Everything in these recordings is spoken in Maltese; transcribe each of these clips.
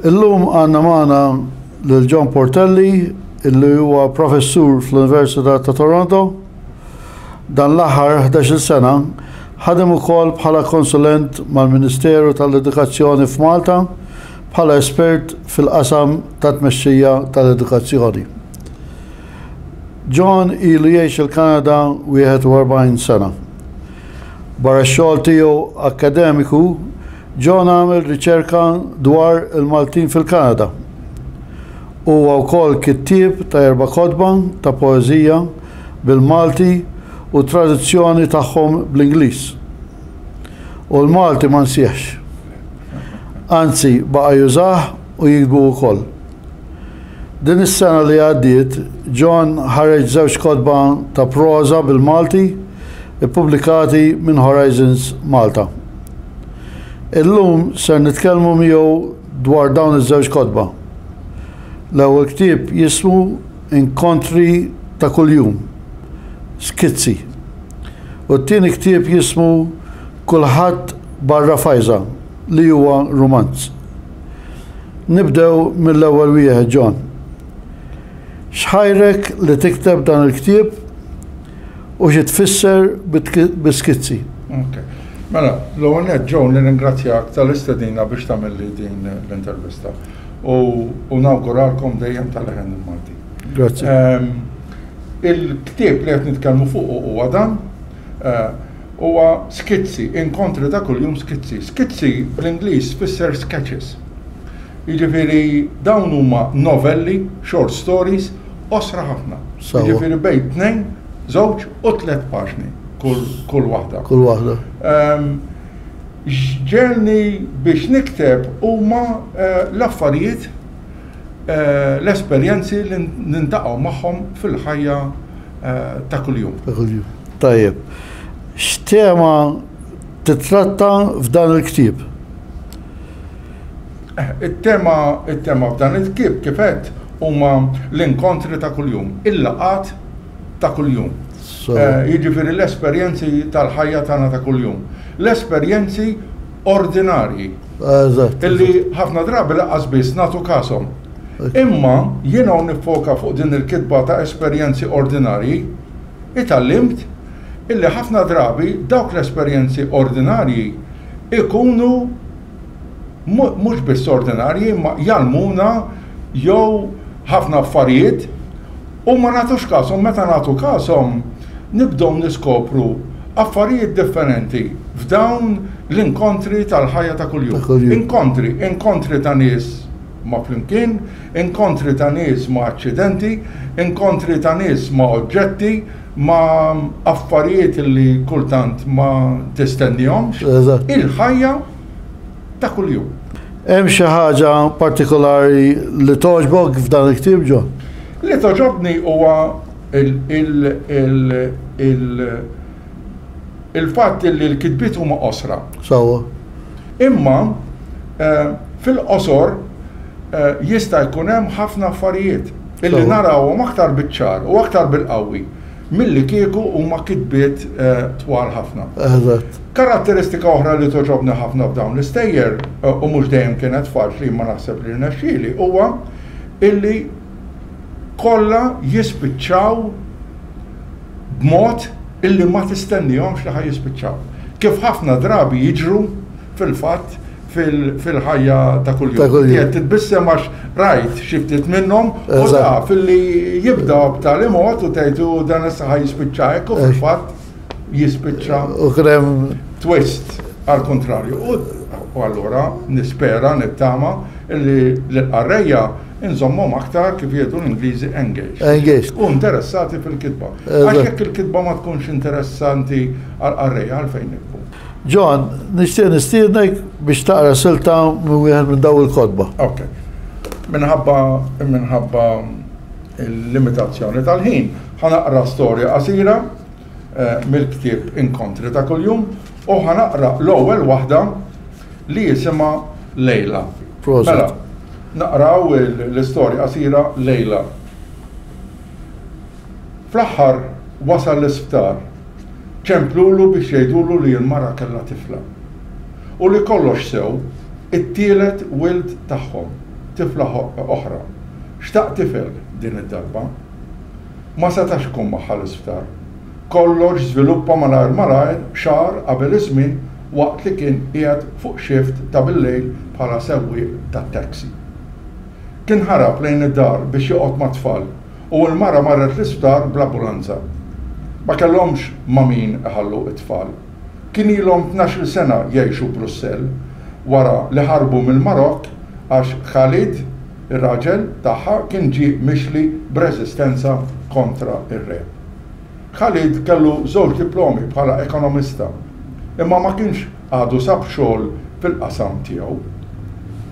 Illum għandna magħna lil John Portelli illi huwa professur fl-Università ta' Toronto. Dan l-aħħar 11-il sena ħadem ukoll bħala konsulent mal-Ministeru tal-Edukazzjoni f'Malta bħala espert fil-qasam ta' tmexxija tal-edukazzjoni. John ilu jgħix il-Kanada 41 sena. Barra x-xogħol tiegħu akkademiku, John għamel riċerka dwar il-Maltin fil-Kanada. Huwa wkoll kittieb ta' erba' kotba ta' poeżija bil-Malti u traduzzjoni tagħhom bl-Ingliż. U l-Malti ma nsieħx. Anzi, baqa' jużah u jiktbu wkoll. Din is-sena li għaddiet, John ħareġ żewġ kotba ta' proża bil-Malti ppubblikati minn Horizons Malta. Illum ser nitkellmu miegħu dwar dawn iż-żewġ kotba. L-ewwel ktieb jismu Inkontri ta' Kuljum, Skizzi. U t-tieni ktieb jismu Kulħadd Barra Fajża li huwa rumanz. Nibdew mill-ewwel wieħed, John. X'ħajrek li tikteb dan il-ktieb u xi tfisser bi skizzi? Ok. Mela, l-ewwel nett Joe nirringrazzjak tal-istedina biex tagħmilli din l-intervista u nawguralkom dejjem tal-leħen il-Malti. Grazzi. Ehm, il-ktieb li qed nitkellmu fuqu huwa dan. Eh, Huwa skizzi, inkontri ta' kuljum skizzi. Skizzi bl-Ingliż tfisser sketches. Jiġifieri dawn huma novelli, short stories, qosra ħafna. Jiġifieri bejn tnejn, żewġ u tlett paġni kull waħda. Kull waħda. Ehm, x'ġegħelni biex nikteb huma eh, l-affarijiet eh, l-esperjenzi li nintaqgħu magħhom fil-ħajja eh, ta' kuljum. Ta' kuljum. Tajjeb. X'tema titratta f'dan il-ktieb? Eh, it-tema it-tema f'dan il-ktieb kif għedt huma l-inkontri ta' kuljum, il-laqgħat ta' kuljum. Eh, jiġifieri l-esperjenzi tal-ħajja tagħna ta' kuljum. L-esperjenzi ordinarji. Illi ħafna drabi laqqas biss nagħtu kashom. Imma jiena nifoka fuq din il-kitba ta' esperjenzi ordinarji, Itgħallimt illi ħafna drabi dawk l-esperjenzi ordinarji jkunu mhux biss ordinarji imma jgħallmuna jew ħafna affarijiet u ma nagħtux kashom, meta nagħtu kashom nibdew niskopru affarijiet differenti f'dawn l-inkontri tal-ħajja ta' kuljum. Inkontri, inkontri ta' nies ma' flimkien, inkontri ta' nies ma' aċċidenti, inkontri ta' nies ma' oġġetti, ma' affarijiet li kultant ma tistennihomx. Il-ħajja ta' kuljum. Hemm xi ħaġa partikolari li togħġbok f'dan il-ktieb, John? Li togħġobni huwa il-fatt li l-kitbiet huma qosra. Sewwa. Imma fil-qosor jista' jkun hemm ħafna affarijiet illi narawhom aktar biċ-ċar u aktar bil-qawwi milli kieku huma kitbiet twal ħafna. Eżatt. Karatteristika oħra li togħġobni ħafna f'dawn l-istejjer, u mhux dejjem kienet faċli imma naħseb li rnexxieli, huwa illi kollha jispiċċaw b'mod illi ma tistennihomx li ħa jispiċċaw. Kif ħafna drabi jiġru fil-fatt fil-ħajja ta' kuljum. Qed titbissem għax rajt xi ftit minnhom u taf illi jibda b'tali mod u tgħid u dan issa ħa jispiċċa hekk u fil-fatt jispiċċa U kien hemm twist għall-kuntrarju. U allura nispera, nittama illi l-qarrejja inżommhom aktar kif jgħidu l-Ingliżi engaged. Engaged. U interessati fil-kitba. Għax jekk il-kitba ma tkunx interessanti għall-qarrejja għalfejn niktbu. John, nixtieq nistiednek biex taqra silta minn wieħed minn dawn il-kotba. Ok. Minħabba minħabba l-limitazzjoni tal-ħin, ħa naqra storja qasira eh, mill-ktieb Inkontri ta' kuljum u ħa naqra l-ewwel waħda li jisimha Lejla. Prosit. Mela, naqraw l-istorja qasira Lejla. Fl-aħħar wasal l-isptar. Ċemplulu biex jgħidulu li l-mara kellha tifla. U li kollox sew, it-tielet wild tagħhom. tifla oħra. Xtaq tifel din id-darba. Ma setax ikun magħha l-isptar. Kollox żviluppa malajr malajr xahar qabel iż-żmien waqt li kien qiegħed fuq xift ta' bil-lejl bħala sewwieq tat-taxi. Kien ħarab lejn id-dar biex joqgħod mat-tfal u l-mara marret l-isptar bl-ambulanza. Ma kellhomx ma' min iħallu t-tfal. Kien ilhom 12-il sena jgħixu Brussell wara li ħarbu mill-Marokk għax Khalid, ir-raġel tagħha, kien ġie mixli b'reżistenza kontra r-re. Khalid kellu żewġ diplomi bħala ekonomista, imma ma kienx għadu sab xogħol fil-qasam tiegħu.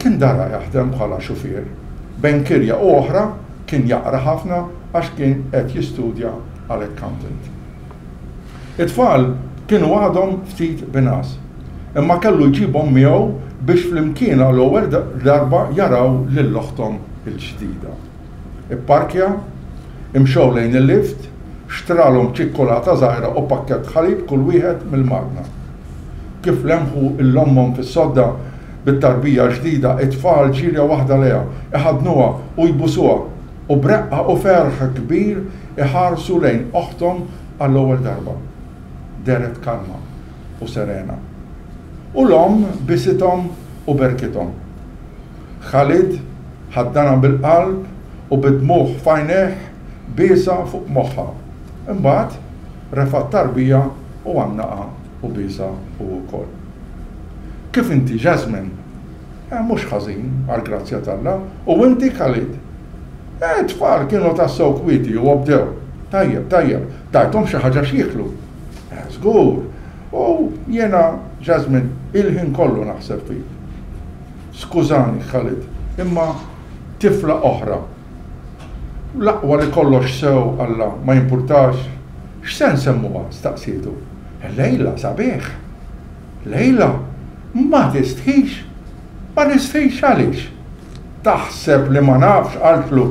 Kien dara jaħdem bħala xufier. Bejn kirja u oħra kien jaqra ħafna għax kien qed jistudja għal accountant. It-tfal kienu għadhom ftit bingħas, imma kellu jġibhom miegħu biex flimkien għall-ewwel darba jaraw lil oħthom il-ġdida. Ipparkja, imxew lejn il-lift, xtralhom ċikkulata żgħira u pakkett ħalib kull wieħed mill-magna. Kif lemħu 'l ommhom fis-sodda bit-tarbija l-ġdida, it-tfal ġirja waħda lejha, iħaddnuha u jbusuha, u b'reqqa u ferħ kbir iħarsu lejn oħthom għall-ewwel darba. Dehret kalma u serena. U l-omm bisithom u berkithom. Khalid ħaddanha bil-qalb u bid-dmugħ f'għajnejh biesha fuq moħħha. Imbagħad refa' t-tarbija u għannaqha u biesha hu wkoll. Kif inti, Jasmine? Eh, mhux ħażin, għall-grazzja t'Alla. U inti, Khalid? Eh, it-tfal kienu tassew kwieti u obdew. Tajjeb, tajjeb. Tajthom xi ħaġa x'jieklu? Eh, żgur. U jiena, Jasmine, il-ħin kollu naħseb fik. Skużani, Khalid, imma tifla oħra. L-aqwa li kollox sew, Alla, ma jimpurtax. X'se nsemmuha? staqsietu. Lejla, sabiħ. Lejla, ma tistħix? Ma nistħix għaliex? Taħseb li ma nafx, qaltlu,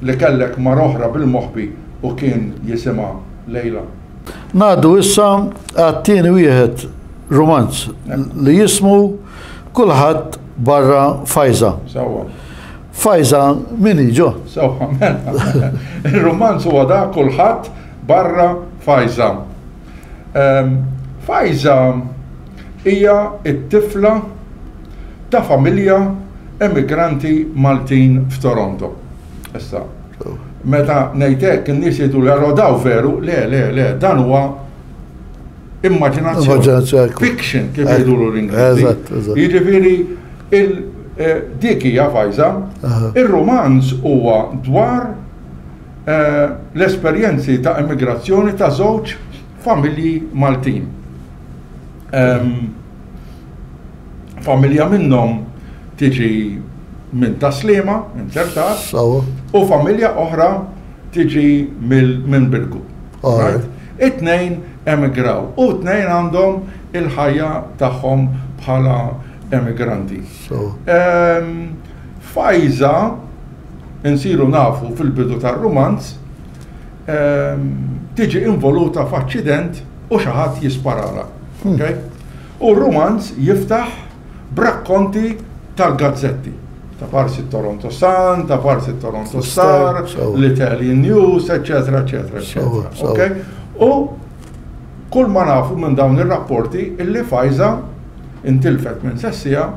li kellek mara oħra bil-moħbi u kien jisimha Lejla. Ngħaddu issa għat-tieni wieħed rumanz li jismu Kulħadd barra Fajza. Sewwa. Fajza min hi ġo? Sewwa, mela. Ir-rumanz huwa da Kulħadd barra Fajza. Ehm, Fajza hija t-tifla ta' familja emigranti Maltin f'Toronto. Issa, meta ngħid hekk in-nies jgħidu li allora daw veru, le, le, le, dan huwa immaġinazzjoni. Fiction kif jgħidulu l-Ingliżi. Jiġifieri eh, dik hija Fajza. Ir-romanz huwa dwar eh, l-esperjenzi ta' immigrazzjoni ta' żewġ familji Maltin. Ehm, Familja minnhom tiġi minn Tas-Sliema, inzertat, u familja oħra tiġi minn Birgu. It-tnejn emigraw u t-tnejn għandhom il-ħajja tagħhom bħala emigranti. Ehm, Fajza insiru nafu fil-bidu tar-rumanz ehm, tiġi involuta f'aċċident u xi ħadd jisparala. Hmm. U r-rumanz jiftaħ b'rakkonti tal-gazzetti, ta' parsi t-Toronto Sun, ta' parsi t-Toronto Star, l-Italian News, eċċetera, eċċetera, eċċetera. Okay? U kull ma nafu minn dawn ir-rapporti illi Fajza intilfet minn sessija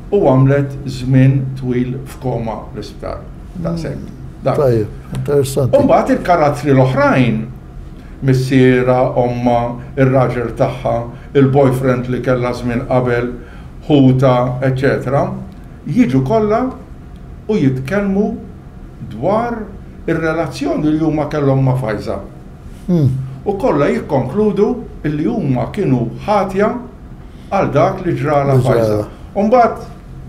u għamlet żmien twil f'koma l-isptar. Daqshekk. Tajjeb, interessanti. U mbagħad il-karattri l-oħrajn missierha, ommha, ir-raġel tagħha, il-boyfriend li kellha żmien qabel, ħutha, eċċetera jiġu kollha u jitkellmu dwar ir-relazzjoni li huma kellhom ma' Fajza. U kollha jikkonkludu li huma kienu ħatja għal dak li ġralha Fajza. U mbagħad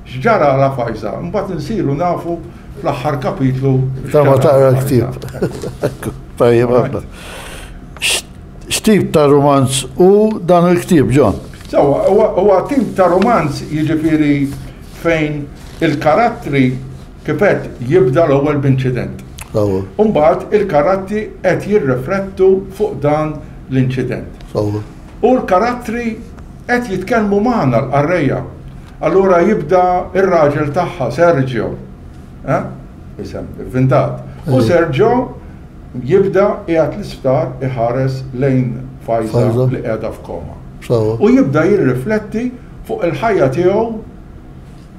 x'ġaralha Fajza? Mbagħad insiru nafu fl-aħħar kapitlu. Ta' ma taqra l-ktieb. Tajjeb ħafna. X'tip ta' rumanz hu dan il-ktieb, John? Sewwa, huwa tip ta' rumanz jiġifieri fejn il-karattri kif għedt jibda l-ewwel b'inċident. U mbagħad il-karattri qed jirriflettu fuq dan l-inċident. U l-karattri qed jitkellmu magħna l-qarrejja. Allura jibda r-raġel tagħha, Sergio. Eh? Isem ivvintat. U Sergio jibda qiegħed l-isptar iħares lejn Fajza li qiegħda f'koma. U jibda jirrifletti fuq il-ħajja tiegħu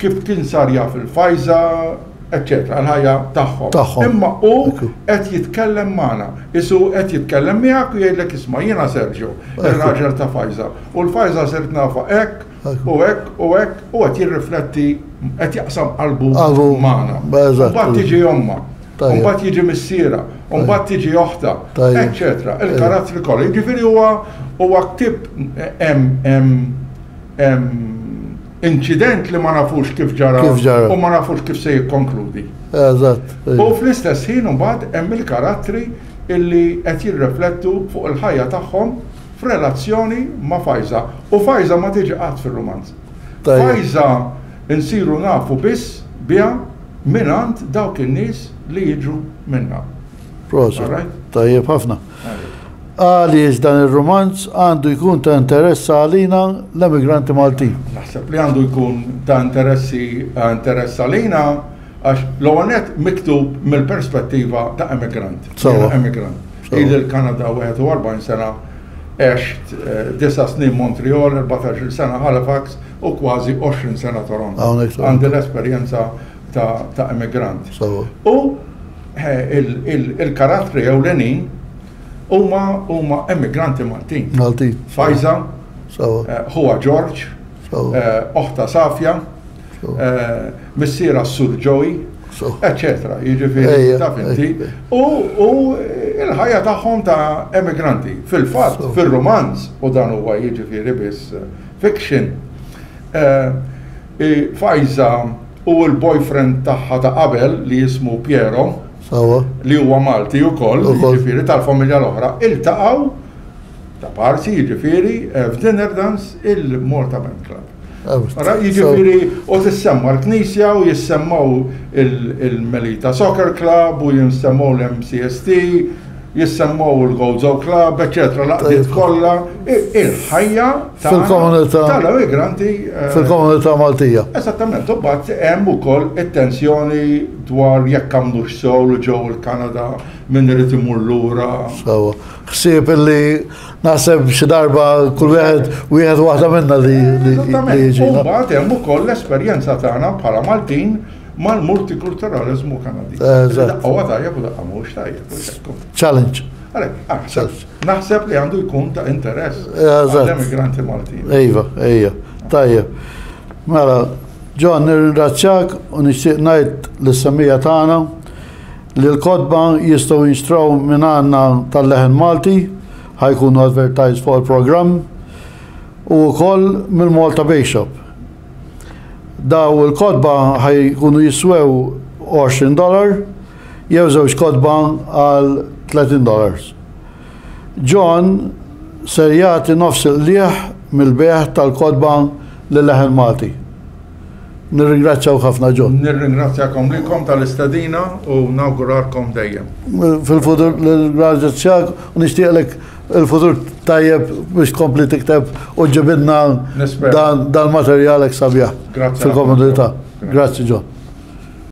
kif kien sar jaf il-Fajza, eċċetera, l-ħajja tagħhom. Imma hu qed jitkellem magħna. Isu qed jitkellem miegħek u jgħidlek isma' jiena Sergio, ir-raġel ta' Fajza. U l-Fajza sirt nafha hekk u hekk u hekk u qed jirrifletti qed jaqsam qalbu magħna. Mbagħad tiġi ommha. Mbagħad jiġi missierha, mbagħad tiġi oħtha, eċċetera. Il-karattri kollha. Jiġifieri huwa huwa ktieb hemm inċident li ma nafux kif ġara u ma nafux kif se jikkonkludi. Eżatt. U fl-istess ħin imbagħad hemm il-karattri illi qed jirriflettu fuq il-ħajja tagħhom f'relazzjoni ma' Fajza. U Fajza ma tiġi qatt fir-rumanz. Fajza nsiru nafu biss biha mingħand dawk in-nies li jiġu minnha. Proset. Tajjeb ħafna. Għaliex dan ir-rumanz għandu jkun ta' interess għalina l-emigranti Maltin? Naħseb li għandu jkun ta' interessi interess għalina għax l-ewwel nett miktub mill-perspettiva ta' emigrant. Sewwa. Emigrant. Ili l-Kanada 41 sena, għext disa' snin Montreal, 14-il sena Halifax u kważi 20 sena Toronto. Għandi l-esperjenza ta' emigrant. U il-karattri ewlenin huma huma emigranti Maltin. Maltin. Fajza, ħuha George, oħta Safja, missiera Sur Joey, eccetera. Jiġifieri taf inti. U il-ħajja tagħhom ta' emigranti. Fil-fatt, fir-rumanz, u dan huwa jiġifieri biss fiction, Fajza u l-boyfriend tagħha ta' qabel li jismu Piero, li huwa Malti wkoll, jiġifieri tal-familja l-oħra, iltaqgħu ta' parsi jiġifieri f'dinner dance il-Malta Band Club. Jiġifieri u tissemma l-Knisja u jissemmaw il-Melita Soccer Club u jissemmaw l-MCST, jissemmaw il-Gozo Club, eċċetera, l-għaqdiet kollha, il-ħajja tal-immigranti. Eh, Fil-komunità Maltija. Esattament, u mbagħad hemm ukoll it-tensjoni dwar jekk għamlux sew li ġew il-Kanada min irid imur lura. Sewa. Ħsieb illi naħseb xi darba kull wieħed wieħed waħda minna li jiġi. U mbagħad hemm ukoll l-esperjenza tagħna bħala Maltin mal-multikulturaliżmu Kanadiż. Daqqa huwa tajjeb u daqqa mhux tajjeb. Challenge. Naħseb li għandu jkun ta' interess għall-emigranti Maltin. Iva, ejja, tajjeb. Mela, John, nirringrazzjak u nixtieq ngħid lis-semmiegħa tagħna li l-kotba jistgħu jinxtraw minn għandna tal-Leħen Malti, ħa jkunu advertised fuq il-programm, u wkoll mill-Malta Bake Shop. Daw il-kotba ħa jkunu jiswew 20 dollar jew żewġ kotba għal 30 dollars. John ser jagħti nofs il-qligħ mill-bejgħ tal-kotba lil Leħen Malti. Nirringrazzjawk ħafna John. Nirringrazzjakom lilkom tal-istedina u nawguralkom dejjem. Fil-futur nirringrazzjak u nixtieqlek il-futur tajjeb biex tkompli tikteb u ġibilna dan materjal hekk sabiħ fil-komunità. Grazzi John.